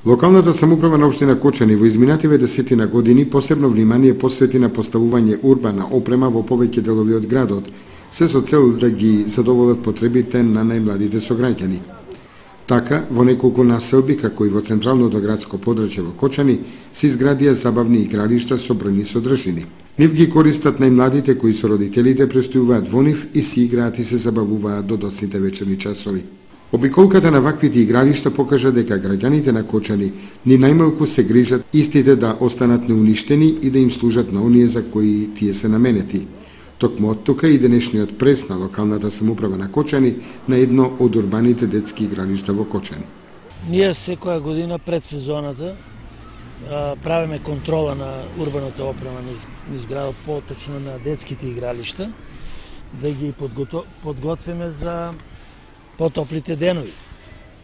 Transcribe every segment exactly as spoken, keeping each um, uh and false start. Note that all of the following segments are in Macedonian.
Локалната самоуправа на општина Кочани во изминативе десетина години посебно внимание посвети на поставување урбана опрема во повеќе делови од градот, се со цел да ги задоволат потребите на најмладите сограѓани. Така, во неколку населби, како и во централното градско подрачје во Кочани, се изградија забавни игралишта со бројни содржини. Нив ги користат најмладите кои со родителите престојуваат во нив и си играат и се забавуваат до доцните вечерни часови. Обиколката на ваквите игралишта покажа дека граѓаните на Кочани ни најмалку се грижат истите да останат неуништени и да им служат на оние за кои тие се наменети. Токму од тука и денешниот прес на локалната самоуправа на Кочани на едно од урбаните детски игралишта во Кочани. Ние секоја година пред сезоната правиме контрола на урбаната опрема низ градот, поточно на детските игралишта, да ги подготвиме за потоплите денови.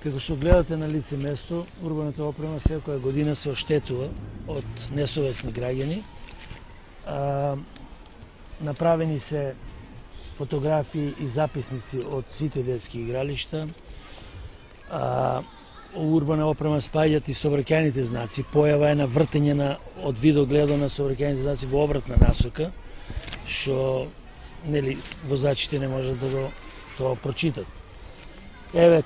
Како што гледате на лице место, урбаната опрема секоја година се оштетува од несовесни граѓани. А, направени се фотографии и записници од сите детски игралишта. А, урбана опрема спаѓаат и сообраќајните знаци. Појава е на вртење на од видогледо на сообраќајните знаци во обратна насока, што нели возачите не можат да го тоа прочитат. Еве,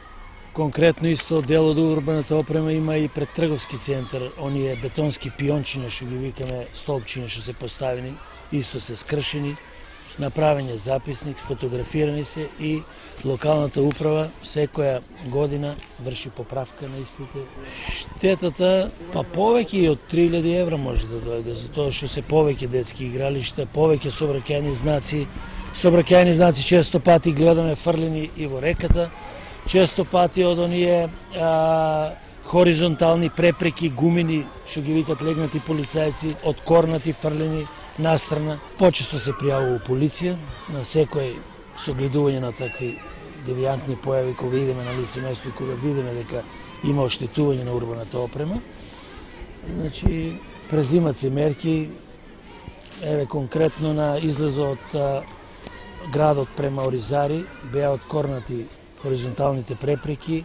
конкретно исто дел од урбаната опрема има и пред трговски центар, оние бетонски пиончиња што ги викаме столпчиња што се поставени, исто се скршени, направен е записник, фотографирани се и локалната управа секоја година врши поправка на истите. Штетата, па повеќе и од три илјади евра може да дојде, затоа што се повеќе детски игралишта, повеќе сообраќајни знаци. Сообраќајни знаци често пати гледаме фрлени и во реката, често пати од оние а, хоризонтални препреки, гумини, што ги викат легнати полицајци, од корнати фрлени настрана. Почесто се пријавува полиција на секој согледување на такви девијантни појави, кога идеме на лице место и кога видиме дека има оштетување на урбаната опрема. Значи, презимат се мерки, еве конкретно на излезот од градот према Оризари, беа откорнати хоризонталните препреки,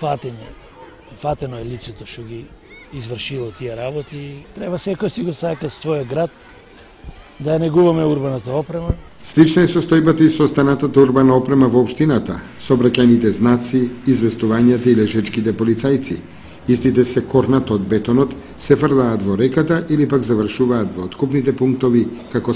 фатење. Фатено е лицето што ги извршило тие работи. Треба секој си го сака својот град, да ја негуваме урбаната опрема. Слична е состојбата и со останатата урбана опрема во општината, сообраќајните знаци, известувањата и лежечките полицајци. Истите се корнат од бетонот, се фрлаат во реката или пак завршуваат во откупните пунктови како